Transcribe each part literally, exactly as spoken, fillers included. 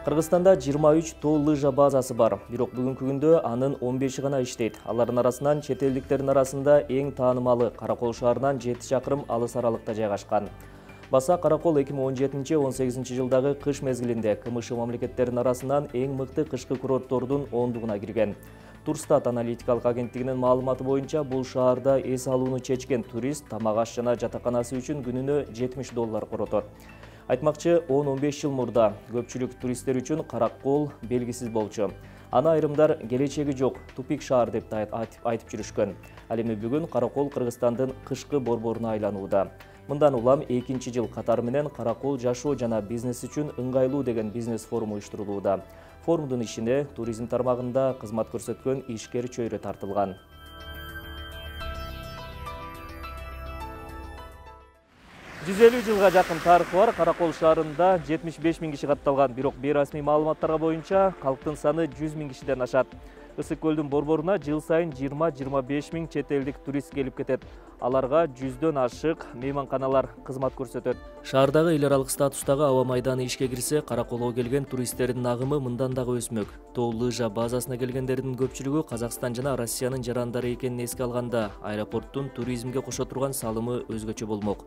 Кыргызстанда жыйырма үч тоо лыжа базасы бар, бирок бүгүнкү күндө анын он беши гана иштейт. Алардын арасынан чет элдиктердин арасында эң таанымалы Каракол шаарынан жети чакырым алыс аралыкта жайгашкан. Баса Каракол эки миң он жетинчи — он сегизинчи жылдагы кыш мезгилинде КМШ мамлекеттеринин арасынан эң мыкты кышкы курорттордун ондугуна кирген. Турстат аналитикалык агенттигинин маалыматы боюнча, бул шаарда эс алууну чечкен турист тамак аш жана жатаканасы үчүн күнүнө жетимиш доллар коротот. Айтмакчы, он — он беш жыл мурда көпчүлүк туристтер үчүн Каракол белгисиз болчу. Аны айрымдар келечеги жок, тупик шаар деп айтып жүрүшкөн. Ал эми бүгүн Каракол Кыргызстандын кышкы борборуна айланууда. Мындан улам экинчи жыл катары менен Каракол жашоо жана бизнес үчүн ыңгайлуу деген бизнес форуму уюштурулууда. Форумдун ишине туризм тармагында кызмат көрсөткөн ишкер чөйрө тартылган. жүз элүү жылга жакын тарыхы бар Каракол шаарында жетимиш беш миң киши катталган, бирок бейрасмий маалыматтарга боюнча калктын саны жүз миң кишиден ашат. Ысык көлдүн борборуна жыл сайын жыйырма — жыйырма беш миң чет элдик турист келип кетет. Аларга жүздөн ашык мейманканалар кызмат көрсөтөт. Шаардагы эл аралык статустагы аба майданы ишке кирсе, Караколго келген туристтердин агымы мындан дагы өсмөк. Тоо лыжа базасына келгендердин көпчүлүгү Казакстан жана Россиянын жарандары экенин эске алганда, аэропорттун туризмге кошо турган салымы өзгөчө болмок.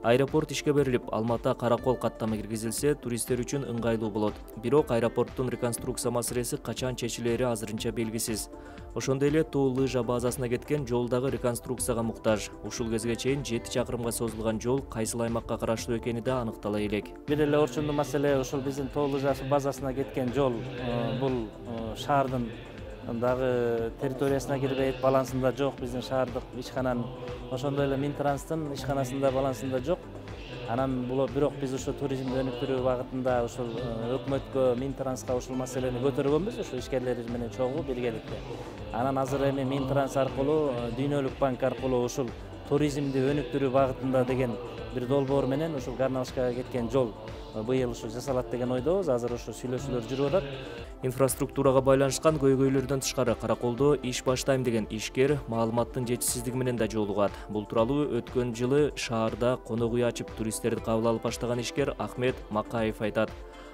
Аэропорт ишке берилип, Алматы Каракол каттамы киргизилсе, туристтер үчүн ыңгайлуу болот. Бирок аэропорттун реконструкция маселеси качан чечилери азырынча белгисиз. Ошондой эле тоо лыжа базасына кеткен жол дагы реконструкцияга муктаж. Ушул кезге чейин жети чакырымга созулган жол кайсыл аймакка караштуу экени да аныктала элек. Бир эле орчундуу маселе ушул биздин тоо лыжа базасына кеткен жол бул шаардын дагы территориясына кирбейт, балансында жок. Биздин шаардык ишкананын, ошондой эле Минтранстын ишканасында балансында жок. Анан бул бирок биз ушу туризмди өнүктүрүү багытында ушул өкмөткө, Минтранска ушул маселени көтөргөнбүз, ушу ишкерлер менен чогуу биргеликте. Анан азыр эми Минтранс аркылуу, Дүйнөлүк банк аркылуу ушул туризмди өнүктүрүү багытында деген бир долбоор менен ушул Гарналышкага кеткен жол быйыл ушу жасалат деген ойдобуз. Азыр ушу сүйлөшүүлөр жүрүп атат. Инфраструктурага байланышкан көйгөйлөрдөн тышкары Караколдо иш баштайм деген ишкер маалыматтын жетишсиздиги менен да жолугат. Бул тууралуу өткөн жылы шаарда конок үй ачып туристтерди кабыл алып баштаган ишкер Ахмет Макаев айтат.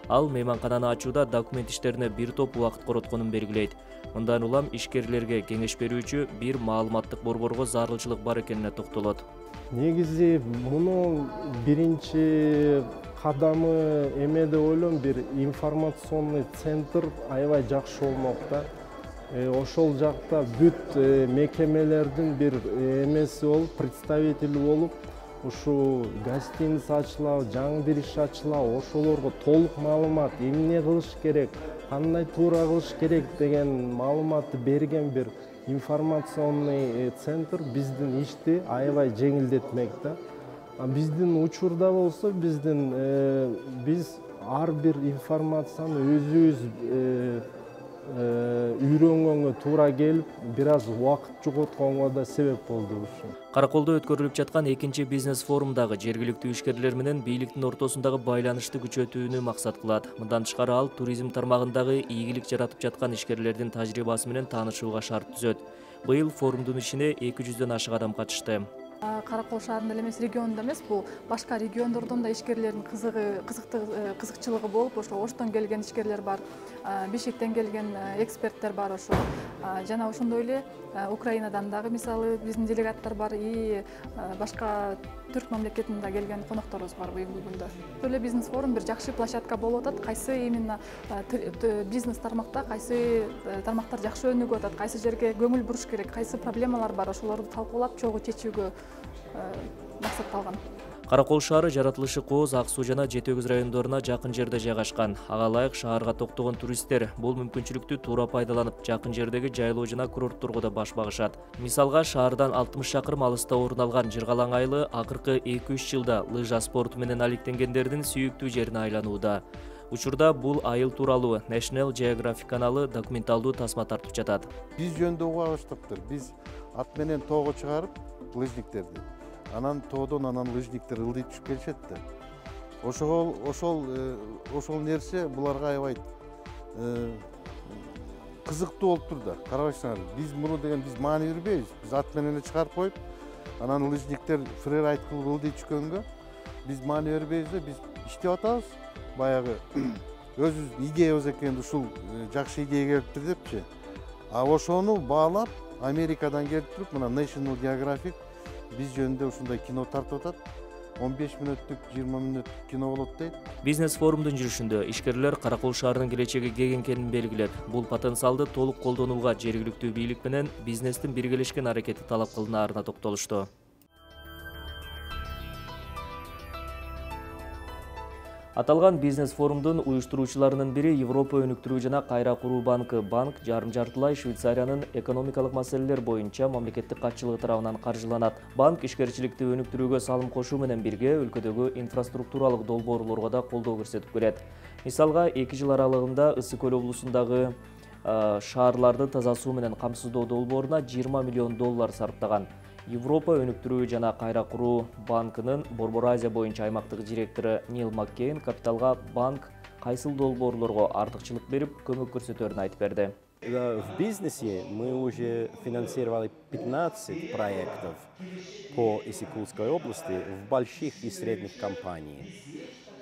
Ал мейманкананы ачууда документ иштерине бир топ убакыт коротконун белгилейт. Мындан улам ишкерлерге кеңеш берүүчү бир маалыматтык борборго зарылчылык бар экенине токтолот. Негизи муну биринчи кадамы эме деп ойлойм, бир информационный центр аябай жакшы болмок да. Ошол жакта бүт мекемелердин бир эмеси болуп, представители болуп, ушу гостиница ачылабы, жаңы бир иш ачылабы, ошолорго толук маалымат, эмне кылыш керек, кандай туура кылыш керек деген маалыматты берген бир информационный центр биздин ишти аябай жеңилдетмек да. Биздин учурда болсо, биздин биз ар бир информацияны өзүбүз үйрөнгөнгө туура келип, бир аз убакыт жоготконго да себеп болду ушу. Караколдо өткөрүлүп жаткан экинчи бизнес форумдагы жергиликтүү ишкерлер менен бийликтин ортосундагы байланышты күчөтүүнү максат кылат. Мындан тышкары ал туризм тармагындагы ийгилик жаратып жаткан ишкерлердин тажрыйбасы менен таанышууга шарт түзөт. Быйыл форумдун ишине эки жүздөн ашык адам катышты. Каракол шаарында эле эмес, регионунда эмес, бул башка региондордон да ишкерлердин кызыгы, кызыкчылыгы болуп, ошо Оштон келген ишкерлер бар, Бишкектен келген эксперттер бар, ошо жана ошондой эле Украинадан дагы мисалы биздин делегаттар бар, и башка түрк мамлекетинен келген конокторубуз бар бүгүнкү күндө. Эле бизнес форум бир жакшы площадка болуп атат. Кайсы именно бизнес тармакта кайсы тармактар жакшы өнүгүп атат, кайсы жерге көңүл буруш керек, кайсы проблемалар бар, ошолорду талкуулап чогуу чечүүгө максатталган. Каракол шаары жаратылышы Кооз, Ак Суу жана Жети Өгүз райондоруна жакын жерде жайгашкан. Ага ылайык шаарга токтогон туристтер бул мүмкүнчүлүктү туура пайдаланып, жакын жердеги жайлоо жана курортторго да баш багышат. Мисалга, шаардан алтымыш чакырым алыста орун алган Жыргалаң айылы акыркы эки үч жылда лыжа спорту менен алектенгендердин сүйүктүү жерине айланууда. Учурда бул айыл тууралуу National Geographic каналы документалдуу тасма тартып жатат. Биз жөнүндө уга баштаптыр. Биз ат менен тоого чыгарып лыжниктерди. Анан тоодон анан лыжниктер ылдый түшүп келишет да. Ошол ошол ошол нерсе буларга аябай кызыктуу болуп тур да. Карабайсыңар, биз муну деген биз маани бербейбиз. Биз ат менен чыгарып коюп, анан лыжниктер фрирайд кылып ылдый түшкөнгө биз маани бербейбиз да, биз иштеп атабыз. Баягы өзүбүздүн идеябыз экен, ушул жакшы идея келиптир депчи. А ошону баалап Америкадан келип туруп, мына National Geographic биз жөнүндө ушундай кино тартып атат. он беш мүнөттүк, жыйырма мүнөттүк кино болот дейт. Бизнес форумдун жүрүшүндө ишкерлер Каракол шаарынын келечеги кең экенин белгилеп, бул потенциалды толук колдонууга жергиликтүү бийлик менен бизнестин биргелешкен аракети талап кылынаарына токтолушту. Аталган бизнес форумдун уюштуруучуларынын бири Европа өнүктүрүү жана кайра куруу банкы. Банк жарым жартылай Швейцариянын экономикалык маселелер боюнча мамлекеттик катчылыгы тарабынан каржыланат. Банк ишкерчиликти өнүктүрүүгө салым кошуу менен бирге өлкөдөгү инфраструктуралык долбоорлорго да колдоо көрсөтүп келет. Мисалга, эки жыл аралыгында Ысык көл облусундагы шаарларды таза суу менен камсыздоо долбооруна жыйырма миллион доллар сарптаган. Европа өнүктүрүү жана кайра куруу банкынын Борбор Азия боюнча аймактык директору Нил Маккейн капиталга банк кайсыл долбоорлорго артыкчылык берип, көмөк көрсөтөрүн айтып берди. В бизнесе мы уже финансировали пятнадцать проектов по Исыкулской области в больших и средних компаниях.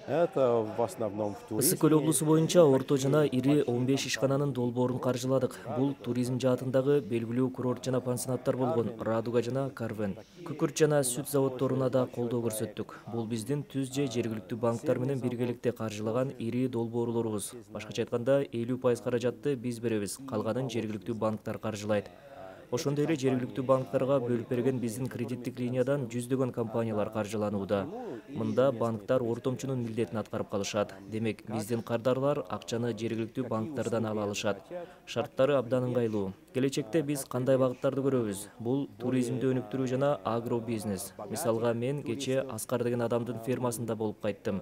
Это в основном в туризме. Ысык көл облусу боюнча орто жана ири он беш ишкананын долбоорун каржыладык. Бул туризм жаатындагы белгилүү курорт жана пансионаттар болгон Радуга жана Карвен. Күкүрт жана сүт заводдоруна да колдоо көрсөттүк. Бул биздин түз же жергиликтүү банктар менен биргеликте каржылаган ири долбоорлорубуз. Башкача айтканда, элүү пайыз каражатты биз беребиз, калганын жергиликтүү банктар каржылайт. Ошондой эле жергиликтүү банктарга бөлүп берген биздин кредиттик линиядан жүздөгөн компаниялар каржыланууда. Мында банктар ортомчунун милдетин аткарып калышат. Демек, биздин кардарлар акчаны жергиликтүү банктардан ала алышат. Шарттары абдан ыңгайлуу. Келечекте биз кандай багыттарды көрөбүз? Бул туризмди өнүктүрүү жана агробизнес. Мисалга, мен кечээ Аскар деген адамдын фермасында болуп кайттым.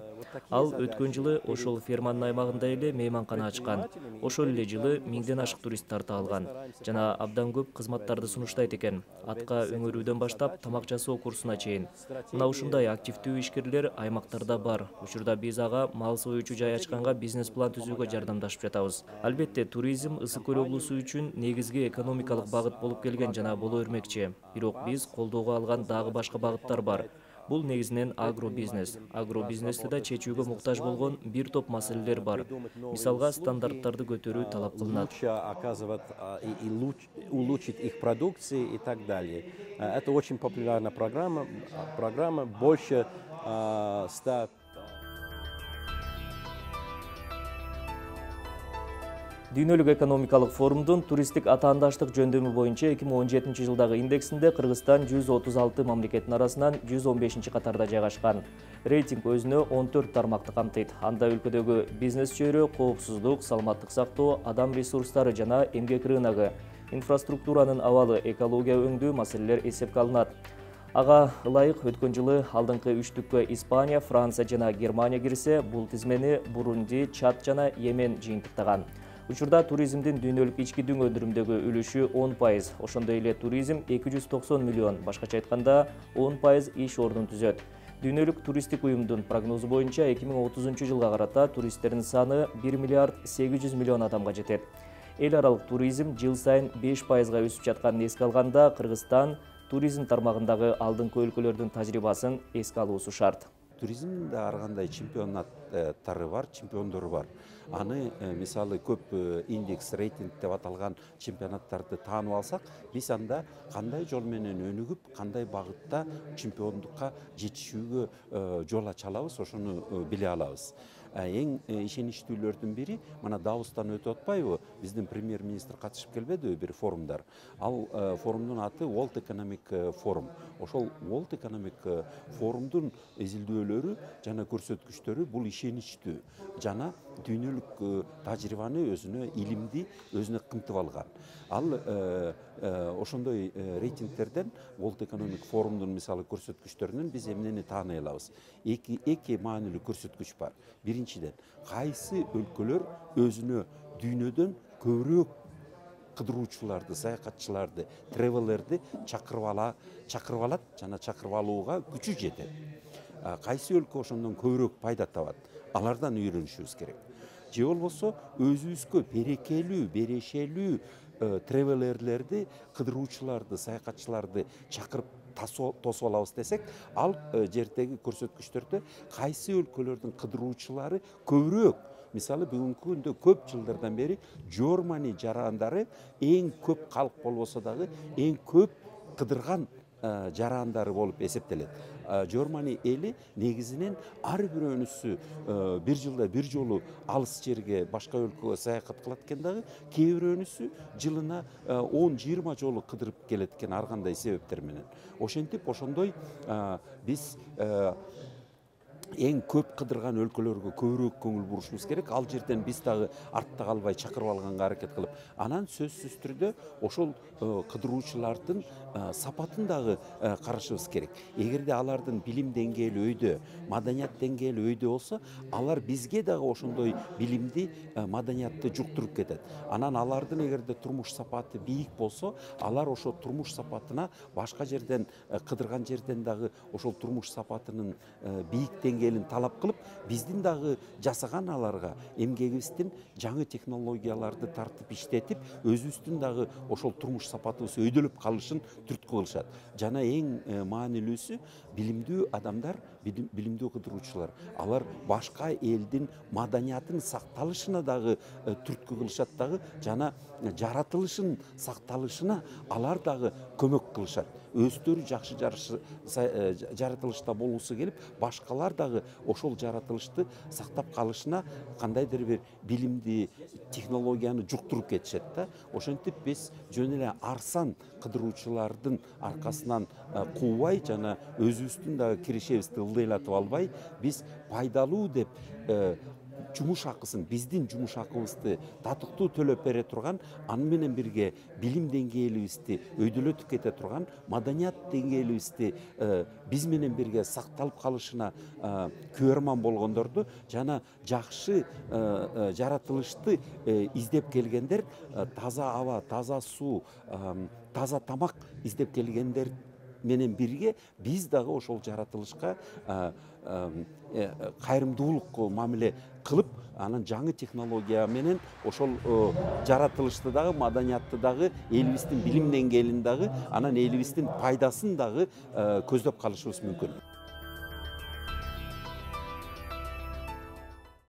Ал өткөн жылы ошол ферманын аймагында эле мейманкана ачкан. Ошол эле жылы миңден ашык турист тарта алган. Жана абдан көп кызматтарды сунуштайт экен. Атка өңөрүүдөн баштап тамак жасоо курсуна чейин. Мына ушундай активдүү ишкерлер аймактарда бар. Учурда биз ага мал союучу жай ачканга бизнес план түзүүгө жардамдашып жатабыз. Албетте, туризм Ысык көл облусу үчүн негизги экономикалык багыт болуп келген жана боло бермекчи. Бирок биз колдоого алган дагы башка багыттар бар. Бул негизинен агробизнес. Агробизнесте да чечүүгө муктаж болгон бир топ маселелер бар. Мисалга, стандарттарды көтөрүү талап кылынат. Улучшить их продукции и так далее. Это очень популярная программа. Программа больше ста. Дүйнөлүк экономикалык форумдун туристтик атаандаштык жөндөмү боюнча эки миң он жетинчи жылдагы индексинде Кыргызстан жүз отуз алты мамлекеттин арасынан жүз он бешинчи катарда жайгашкан. Рейтинг өзүнө он төрт тармакты камтыйт. Анда өлкөдөгү бизнес чөйрө, коопсуздук, саламаттык сактоо, адам ресурстары жана эмгек рыногу, инфраструктуранын абалы, экология өңдүү маселелер эсепке алынат. Ага ылайык өткөн жылы алдыңкы үчтүккө Испания, Франция жана Германия кирсе, бул тизмени Бурунди, Чад жана Йемен жыйынтыктаган. Учурда туризмдин дүйнөлүк ички дүң өндүрүмдөгү үлүшү он пайыз. Ошондой эле туризм эки жүз токсон миллион, башкача айтканда он пайыз иш ордун түзөт. Дүйнөлүк туристтик уюмдун прогнозу боюнча эки миң отузунчу жылга карата туристтердин саны бир миллиард сегиз жүз миллион адамга жетет. Эл аралык туризм жыл сайын беш пайызга өсүп жатканын эске алганда, Кыргызстан туризм тармагындагы алдыңкы өлкөлөрдүн тажрыйбасын эске алуусу шарт. Туризмде ар кандай чемпионаттары бар, чемпиондору бар. Аны мисалы көп индекс, рейтинг деп аталган чемпионаттарды таанып алсак, биз анда кандай жол менен өнүгүп, кандай багытта чемпиондукка жетишүүгө жол ача алабыз, ошону биле алабыз. Эң ишеничтүүлөрдүн бири мына Давостан өтүп атпайбы? Биздин премьер-министр катышып келбедиби бир форумдар? Ал форумдун аты World Economic Forum. Ошол World Economic Forumдун изилдөөлөрү жана көрсөткүчтөрү бул ишеничтүү жана дүйнөлүк тажрыйбаны өзүнө, илимди өзүнө камтып алган. Ал ошондой рейтингтерден World Economic Forumдун мисалы көрсөткүчтөрүнөн биз эмнени тааный алабыз? Эки эки маанилүү көрсөткүч бар. Биринчиден, кайсы өлкөлөр өзүнө дүйнөдөн көбүрөөк кыдыруучуларды, саякатчыларды, тревелерди чакырып ала, чакырып алат жана чакырып алууга күчү жетет. Кайсы өлкө ошондон көбүрөөк пайда табат? Алардан үйрөнүшүбүз керек. Же болбосо өзүбүзгө берекелүү, берешелүү тревелерлерди, кыдыруучуларды, саякатчыларды чакырып тосуп алабыз десек, ал жердеги көрсөткүчтөрдө кайсы өлкөлөрдүн кыдыруучулары көбүрөөк мисалы бүгүнкү күндө көп жылдардан бери Germany жарандары эң көп калк болбосо дагы эң көп кыдырган жарандары болуп эсептелет. Germany эли негизинен ар бирөөнүсү бир жылда бир жолу алыс жерге башка өлкөгө саякат кылат экен дагы, кээ бирөөнүсү жылына он жыйырма жолу кыдырып келет экен ар кандай себептер менен. Ошентип ошондой биз эң көп кыдырган өлкөлөргө көбүрөөк көңүл бурушубуз керек. Ал жерден биз дагы артта калбай чакырып алганга аракет кылып, анан сөзсүз түрдө ошол кыдыруучулардын сапатын дагы карашыбыз керек. Эгерде алардын билим деңгээли өйдө, маданият деңгээли өйдө болсо, алар бизге дагы ошондой билимди, маданиятты жуктуруп кетет. Анан алардын эгерде турмуш сапаты бийик болсо, алар ошо турмуш сапатына башка жерден кыдырган жерден дагы ошол турмуш сапатынын бийик деңгээлин талап кылып, биздин дагы жасаган аларга эмгегибиздин жаңы технологияларды тартып иштетип, өзүбүздүн дагы ошол турмуш сапатыбыз өйдөлөп калышын түрткү кылышат. Жана эң маанилүүсү билимдүү адамдар, билимдүү кыдыруучулар. Алар башка элдин маданиятын сакталышына дагы түрткү кылышат дагы, жана жаратылышын сакталышына алар дагы көмөк кылышат. Өздөрү жакшы жаратылышта болгусу келип, башкалар дагы ошол жаратылышты сактап калышына кандайдыр бир билимди, технологияны жуктуруп кетишет да. Ошентип биз жөн эле арзан кыдыруучулардын аркасынан куубай жана өзүбүздүн дагы киришебизди ылдыйлатып албай, биз пайдалуу деп жумуш акысын, биздин жумуш акыбызды татыктуу төлөп бере турган, аны менен бирге билим деңгээлибизди өйдөлөтүп кете турган, маданият деңгээлибизди биз менен бирге сакталып калышына күбөрман болгондорду жана жакшы жаратылышты издеп келгендер, таза аба, таза суу, таза тамак издеп келгендер менен бирге биз дагы ошол жаратылышка кайрымдуулук мамиле кылып, анан жаңы технология менен ошол жаратылышты дагы, маданиятты дагы, элибиздин билим деңгээлин дагы, анан элибиздин пайдасын дагы көздөп калышыбыз мүмкүн.